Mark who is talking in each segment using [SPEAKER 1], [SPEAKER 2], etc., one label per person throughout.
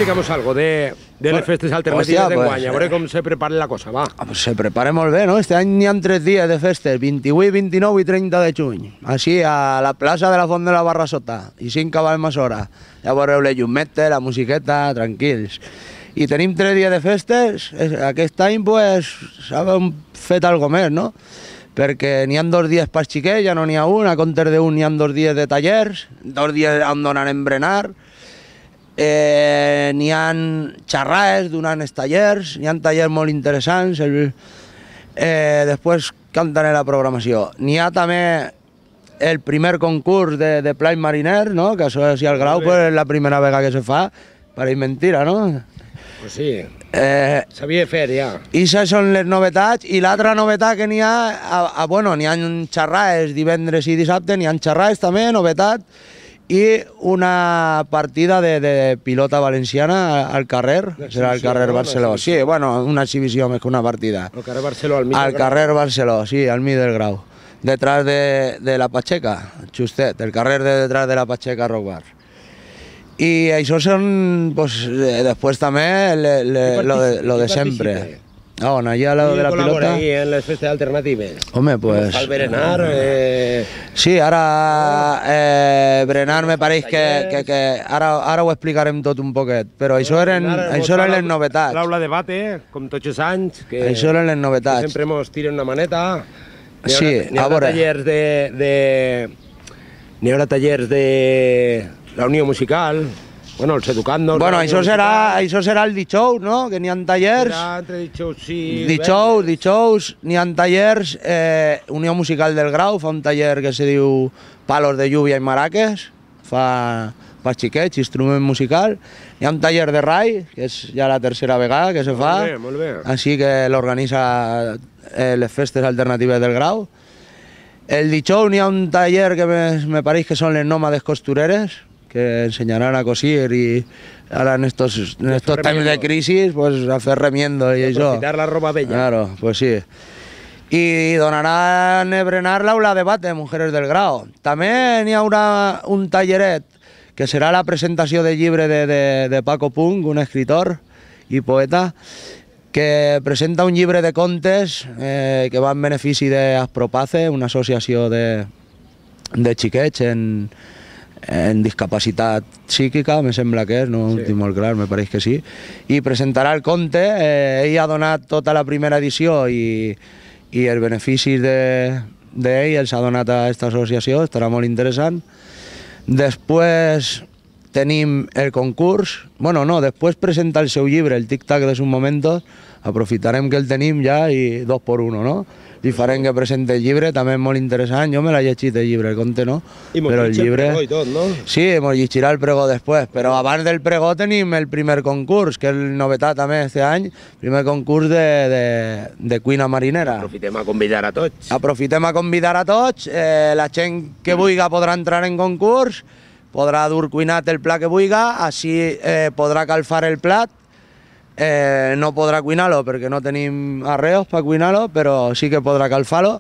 [SPEAKER 1] explicamos algo de les festes alternatives d'enguany, a veure com se prepara la cosa, va.
[SPEAKER 2] Pues se prepara molt bé, no? Este any n'hi ha 3 dies de festes, 28, 29 i 30 de juny. Així, a la plaça de la Font de la Barra Sota, i 5 cavalls hora. Ja veureu les llumetes, la musiqueta, tranquils. I tenim 3 dies de festes, aquest any pues s'ha fet algo més, no? Perquè n'hi ha 2 dies per xiquets, ja no n'hi ha un, a comptes d'un n'hi ha 2 dies de tallers, 2 dies on donarem berenar, n'hi ha xerrades donant els tallers, n'hi ha tallers molt interessants, després cantaré la programació. N'hi ha també el primer concurs de Play Mariner, no? Que això és al Grau, pues, és la primera vegada que se fa, pareix mentira, no?
[SPEAKER 1] Pues sí, s'havia de fer ja.
[SPEAKER 2] I això són les novetats, i l'altra novetat que n'hi ha, bueno, n'hi ha xerrades divendres i dissabte, n'hi ha xerrades també, novetat, i una partida de pilota valenciana al carrer, serà al carrer Barceló. Sí, bueno, una exhibició més que una partida.
[SPEAKER 1] Al carrer Barceló, al mig del Grau.
[SPEAKER 2] Al carrer Barceló, sí, al mig del Grau. Detrás de la Pacheca, justet, el carrer de detrás de la Pacheca Rock Bar. I això són, pues, després també lo de sempre. On, allà a lo de la pilota...
[SPEAKER 1] col·labora ahí en les festes alternatives.
[SPEAKER 2] Home, pues...
[SPEAKER 1] Al berenar...
[SPEAKER 2] Sí, ara berenar me pareix que ara ho explicarem tot un poquet, però això eren les novetats.
[SPEAKER 1] L'aula de bate, com tots els anys, que
[SPEAKER 2] això eren les novetats.
[SPEAKER 1] sempre mos tiren una maneta.
[SPEAKER 2] Sí, a veure...
[SPEAKER 1] N'hi haurà tallers de la Unió Musical, bueno, els educandos...
[SPEAKER 2] Bueno, això serà el dijous, no? Que n'hi ha tallers...
[SPEAKER 1] Serà entre dijous i...
[SPEAKER 2] Dijous, n'hi ha tallers... Unió Musical del Grau fa un taller que se diu Palos de Lluvia i Maraques, fa xiquets, instrument musical. Hi ha un taller de rai, que és ja la tercera vegada que se fa.
[SPEAKER 1] Molt bé, molt bé.
[SPEAKER 2] Així que l'organitza les festes alternatives del Grau. El dijous n'hi ha un taller que me pareix que són les nòmades costureres, que enseñarán a cosir y ahora en estos tiempos de crisis, pues a fer remiendo y eso.
[SPEAKER 1] Aprofitar la ropa bella.
[SPEAKER 2] Claro, pues sí. I donaran a berenar l'aula de bate, Mujeres del Grau. També n'hi haurà un talleret, que serà la presentació del llibre de Paco Punk, un escritor i poeta, que presenta un llibre de contes que va en benefici d'Aspropace, una associació de xiquets en discapacitat psíquica, me sembla que és, no ho tinc molt clar, me pareix que sí, i presentarà el conte. Ell ha donat tota la primera edició i els beneficis d'ell els ha donat a aquesta associació, estarà molt interessant. Després tenim el concurs, bueno, no, després presenta el seu llibre, el tic-tac de sus momentos, aprofitarem que el tenim ja i 2 por 1, no? Diferent que presenta el llibre, també és molt interessant. Jo me l'he llegit el llibre, el conte no, però el llibre...
[SPEAKER 1] I tot, no?
[SPEAKER 2] Sí, mos llegirà el pregó després, però abans del pregó tenim el primer concurs, que és novetat també este any, primer concurs de cuina marinera.
[SPEAKER 1] Aprofitem a convidar a tots.
[SPEAKER 2] Aprofitem a convidar a tots, la gent que vulgui podrà entrar en concurs, podrà dur cuinat el plat que vulgui, així podrà calfar el plat. No podrà cuinar-lo perquè no tenim arreos per cuinar-lo, però sí que podrà calfar-lo.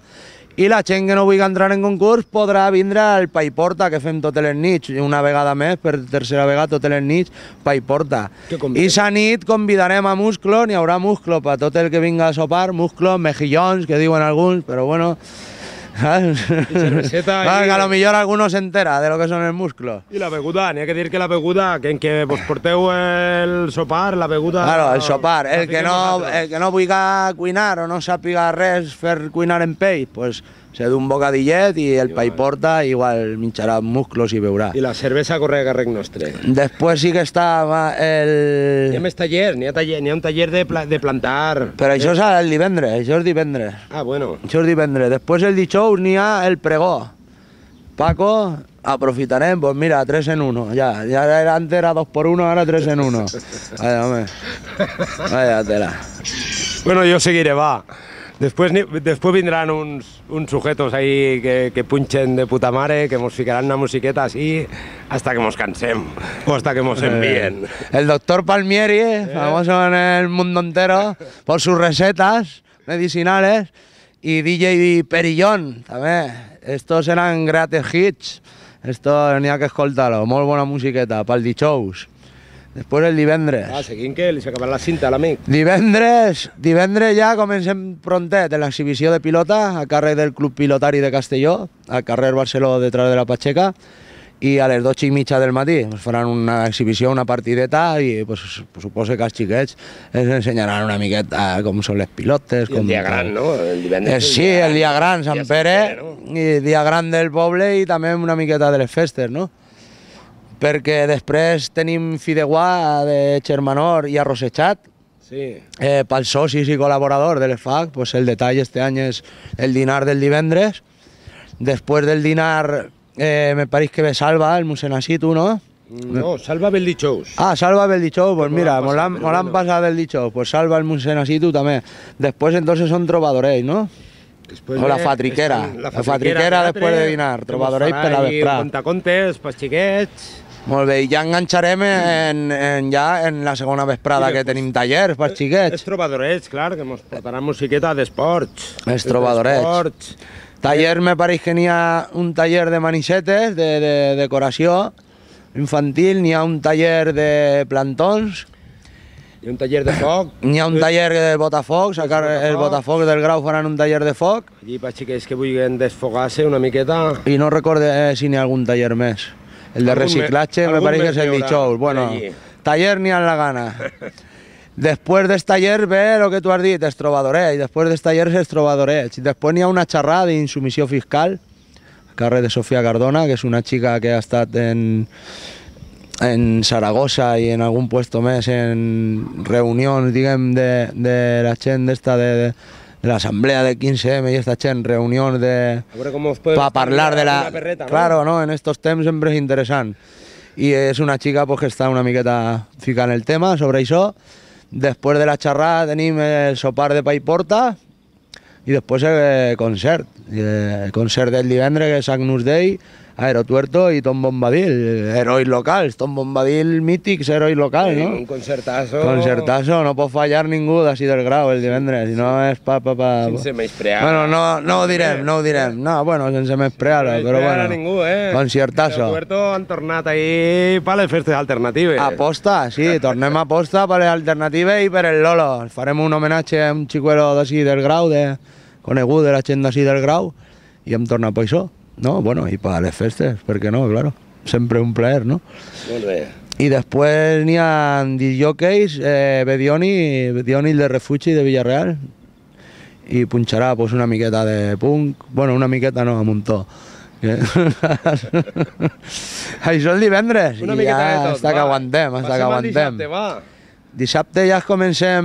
[SPEAKER 2] I la gent que no vulgui entrar en concurs podrà vindre al Paiporta, que fem totes les nits, una vegada més, per tercera vegada totes les nits, Paiporta. I sa nit convidarem a musclo, n'hi haurà musclo per tot el que vinga a sopar, musclos, mejillons, que diuen alguns, però bueno... que a lo millor alguno se entera de lo que son els musclos.
[SPEAKER 1] I la beguda, n'hi ha que dir que la beguda, que en què vos porteu el sopar, la beguda...
[SPEAKER 2] Claro, el sopar, el que no vulgui cuinar o no sàpiga res fer cuinar en peix, pues se du un bocadillet i el Paiporta igual minxarà musclos i beurà.
[SPEAKER 1] I la cervesa corre a càrrec nostre.
[SPEAKER 2] Després sí que està el...
[SPEAKER 1] Hi ha més tallers, n'hi ha un taller de plantar...
[SPEAKER 2] Però això és el divendres, això és divendres.
[SPEAKER 1] Ah, bueno.
[SPEAKER 2] Això és divendres. Després el dijous n'hi ha el pregó. Paco, aprofitarem, pues mira, 3 en 1. Ya antes era 2 por 1, ahora 3 en 1. Vaya, hombre. Vaya tela.
[SPEAKER 1] Bueno, yo seguiré, va. Después vendrán uns sujetos ahí que punchen de puta mare, que nos ficarán una musiqueta así hasta que nos cansem o hasta que nos envíen.
[SPEAKER 2] El doctor Palmieri, famoso en el mundo entero por sus recetas medicinales, y DJ Perillón també. Estos eran greatest hits, esto n'hi ha que escoltar-lo, molt bona musiqueta pel dijous. Després el divendres.
[SPEAKER 1] Seguint que li s'ha acabat la cinta a l'amic.
[SPEAKER 2] Divendres ja comencem prontet en l'exhibició de pilota a càrrec del Club Pilotari de Castelló, al carrer Barceló, detrás de la Pacheca, i a les 12:30 del matí pues, faran una exhibició, una partideta, i pues, suposo que els xiquets ens ensenyaran una miqueta com són les pilotes.
[SPEAKER 1] I el dia gran, no? El divendres.
[SPEAKER 2] Sí, el dia gran, Sant Pere, no? I el dia gran del poble i també una miqueta de les festes, no? Perquè després tenim fideuà de Xermanor i arrossejat.
[SPEAKER 1] Sí.
[SPEAKER 2] Pels socis i col·laboradors de l'EFAC, pues el detall este any és el dinar del divendres. Després del dinar me pareix que ve Salva, el Musenasitu, ¿no?
[SPEAKER 1] No, Salva Beldichous.
[SPEAKER 2] Ah, Salva Beldichous, pues mira, mos l'han passat Beldichous, pues Salva el Musenasitu també. Després entonces són trobadorells, ¿no? O la fatriquera. La fatriquera després de dinar, trobadorells per la vesprà.
[SPEAKER 1] Contacontes, pels xiquets.
[SPEAKER 2] Molt bé, i ja enganxarem en la segona vesprada que tenim tallers pels xiquets.
[SPEAKER 1] Els trobadorets, clar, que ens portaran musiqueta d'esports.
[SPEAKER 2] Els trobadorets. Taller, me pareix que n'hi ha un taller de manisetes, de decoració infantil, n'hi ha un taller de plantons.
[SPEAKER 1] Hi ha un taller de foc.
[SPEAKER 2] N'hi ha un taller de botafocs, el botafocs del Grau faran un taller de foc.
[SPEAKER 1] Allí per xiquets que vulguin desfogar-se una miqueta.
[SPEAKER 2] I no recorde si n'hi ha algun taller més. El de reciclatge me pareix que és el dijous. Bueno, taller n'hi ha la gana. Després del taller ve el que tu has dit, els trobadorets. Després del taller els trobadorets. Després n'hi ha una xerrada d'insumissió fiscal, a carrer de Sofia Cardona, que és una xica que ha estat en Saragossa i en algun puesto més en reunions, diguem, de la gent d'esta de l'assemblea del 15M i esta gent, reunions per parlar de la...
[SPEAKER 1] Perreta, ¿no?
[SPEAKER 2] Claro, ¿no? En estos temps sempre és interessant. I és una xica pues, que està una miqueta ficant el tema sobre això. Després de la xerrada tenim el sopar de pa i porta i després el concert. El concert del divendres, que és Agnus Dei, Aerotuerto i Tom Bombadil, herois locals, Tom Bombadil mítics, herois locals, no?
[SPEAKER 1] Un concertazo.
[SPEAKER 2] Concertazo, no pot fallar ningú d'ací del Grau el divendres, si no és
[SPEAKER 1] Sense menysprear.
[SPEAKER 2] Bueno, no ho direm. No, bueno, sense menysprear, però bueno.
[SPEAKER 1] Ningú,
[SPEAKER 2] Concertazo.
[SPEAKER 1] Aerotuerto han tornat ahí per les festes alternatives.
[SPEAKER 2] Aposta, sí, tornem a aposta per les alternatives i per el Lolo. Farem un homenatge a un xicuelo d'ací del Grau, conegut de la gent d'ací del Grau, i hem tornat per això. No, bueno, i per les festes, per què no, claro. Sempre un plaer, no?
[SPEAKER 1] Molt bé.
[SPEAKER 2] I després n'hi ha disjòqueis, Bedioni de Refugi de Villarreal, i punxarà pues, una miqueta de punk, bueno, una miqueta no, a muntó. Això el divendres,
[SPEAKER 1] una
[SPEAKER 2] i ja
[SPEAKER 1] de tot,
[SPEAKER 2] està que aguantem,
[SPEAKER 1] Dissabte, va.
[SPEAKER 2] Dissabte ja comencem,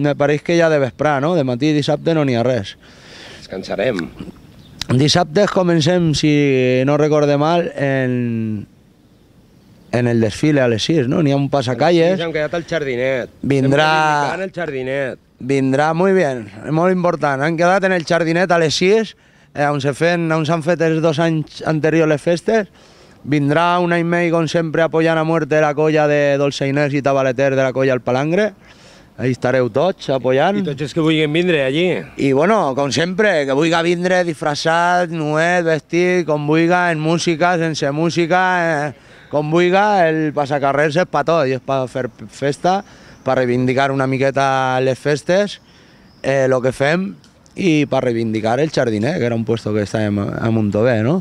[SPEAKER 2] me pareix que ja de vesprà, no? De matí i dissabte no n'hi ha res.
[SPEAKER 1] Descansarem.
[SPEAKER 2] Dissabte comencem, si no recorde mal, en el desfile a les 6, no? N'hi ha un passacalles.
[SPEAKER 1] Sí, hem quedat al jardinet.
[SPEAKER 2] Vindrà...
[SPEAKER 1] En el jardinet.
[SPEAKER 2] Vindrà, muy bien, molt important. Han quedat en el jardinet a les 6, on s'han fet els 2 anys anteriors les festes. Vindrà un any més, com sempre, apoyant a muerte la colla de dolçainers i tabaleters de la colla al Palangre. Ahí estareu tots apoyant.
[SPEAKER 1] I tots els que vulguin vindre allí.
[SPEAKER 2] I bueno, com sempre, que vulgui vindre disfressat, nuet, vestit, com vulgui, en música, sense música, com vulgui, el passacarrers és per tot, i és per fer festa, per reivindicar una miqueta les festes, el que fem, i per reivindicar el jardiner, que era un puesto que estàvem a Montové, no?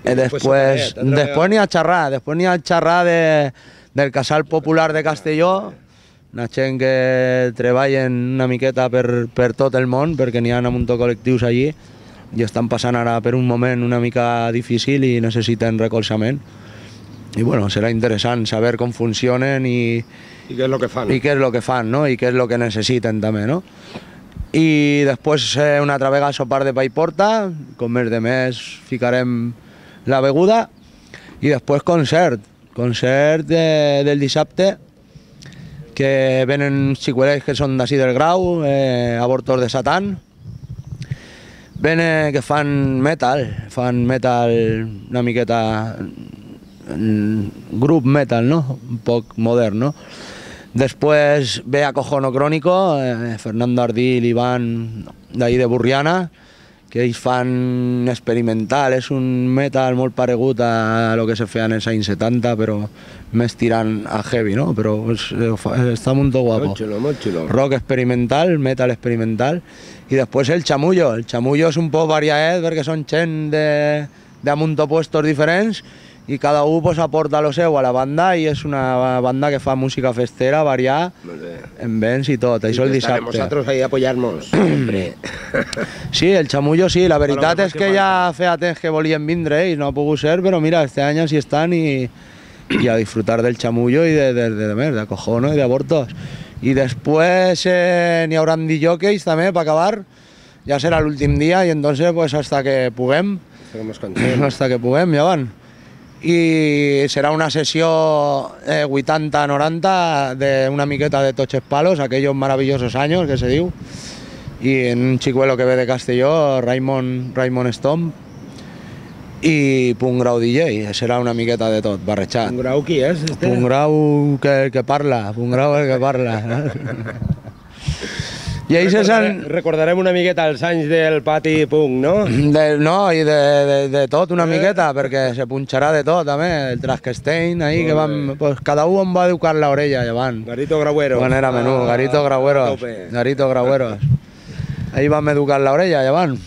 [SPEAKER 2] Després n'hi ha xerrar del Casal Popular de Castelló, una gent que treballen una miqueta per tot el món, perquè n'hi ha un munt de col·lectius allí i estan passant ara per un moment una mica difícil i necessiten recolzament. I bueno, serà interessant saber com funcionen i
[SPEAKER 1] què és el que fan.
[SPEAKER 2] I què és el que fan, no? I què és el que necessiten també, no? I després una altra vegada sopar de pa i porta, com més de més ficarem la beguda, i després concert del dissabte, que venen xicuelets que són d'ací del Grau, abortos de Satan, que fan metal una miqueta, grup metal, no? Un poc modern, no? Després ve Acojono Crónico, Fernando Ardil, Iván, d'ahí de Burriana, que ells fan experimental, és un metal molt paregut a lo que se feia en els anys 70, però més tirant a heavy, no? Però està molt guapo.
[SPEAKER 1] Molt xulo, molt xulo.
[SPEAKER 2] Rock experimental, metal experimental, i després el chamullo. El chamullo és un poc variat perquè són gent de munt opuestos diferents i cada un pues, aporta lo seu a la banda i és una banda que fa música festera, variar, en vents i tot. Això el dissabte.
[SPEAKER 1] Nosaltres ahí a apoyar-nos.
[SPEAKER 2] Sí, el chamullo sí, la veritat és que ja feia temps que volien vindre i no ha pogut ser, però mira, este any sí estan i a disfrutar del chamullo i de acojono i d'abortos. I després n'hi haurà DJs també per acabar, ja serà l'últim dia i entonces pues hasta que puguem, hasta que puguem, ja van. I serà una sessió 80-90 d'una miqueta de tots els palos, aquellos maravillosos anys que se diu, i en un xicuelo que ve de Castelló, Raymond Stomp, i Punt Grau DJ, serà una miqueta de tot, barrejat.
[SPEAKER 1] Punt Grau qui és?
[SPEAKER 2] Punt Grau que parla, Punt Grau el que parla. I ells
[SPEAKER 1] recordarem una miqueta els anys del pati punk, no?
[SPEAKER 2] No, i de tot una miqueta, perquè se punxarà de tot, també, el Traskestein, ahí, que van, pues, cada un va educar la orella, llevant.
[SPEAKER 1] Garito Graueros.
[SPEAKER 2] Quan era menú, Garito Graueros. Garito Graueros. Ahí vam educar la orella, llevant.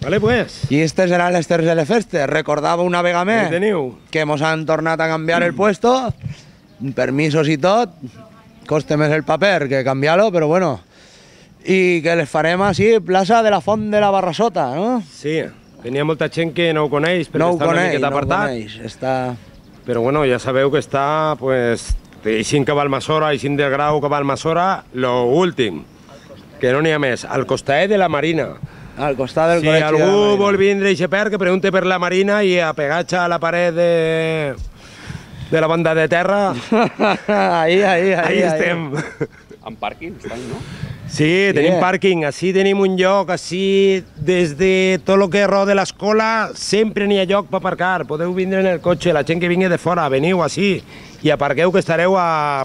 [SPEAKER 1] Vale, pues.
[SPEAKER 2] I estes seran les terceres festes. Recordava una vegada més que mos han tornat a canviar el puesto, permisos i tot, costa més el paper que canviar-lo, però bueno, i que les farem així, plaça de la Font de la Barrassota, no?
[SPEAKER 1] Sí, tenia molta gent que no ho coneix, perquè està una miqueta apartat.
[SPEAKER 2] Està...
[SPEAKER 1] Però bueno, ja sabeu que està, pues, eixint que va al Masora, eixint del Grau que va al Masora, lo últim, que no n'hi ha més, al costat de la Marina.
[SPEAKER 2] Al costat del
[SPEAKER 1] col·legi de la Marina. Si algú vol vindre i xeper, que pregunte per la Marina i apegatge a la paret de la banda de terra.
[SPEAKER 2] Ahí
[SPEAKER 1] estem.
[SPEAKER 3] En pàrquing estan, no?
[SPEAKER 1] Sí, tenim pàrquing, així tenim un lloc, així des de tot el que rode l'escola sempre n'hi ha lloc per aparcar, podeu vindre en el cotxe, la gent que vingui de fora, veniu així i aparqueu que estareu al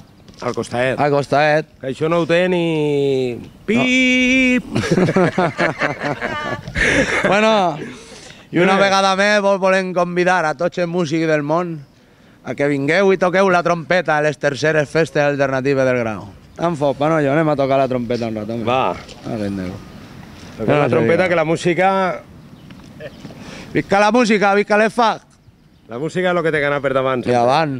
[SPEAKER 1] costat.
[SPEAKER 2] Al costat.
[SPEAKER 1] Que això no ho té ni... Pip!
[SPEAKER 2] Bueno, i una vegada més volem convidar a tots els músics del món a que vingueu i toqueu la trompeta a les terceres festes alternatives del Grau. Tan fort, Panollo, anem a tocar la trompeta un rato.
[SPEAKER 1] Va. Tocar la trompeta, que la música...
[SPEAKER 2] Visca la música, visca l'EFAC.
[SPEAKER 1] La música és el que té que anar per davant.
[SPEAKER 2] I avant.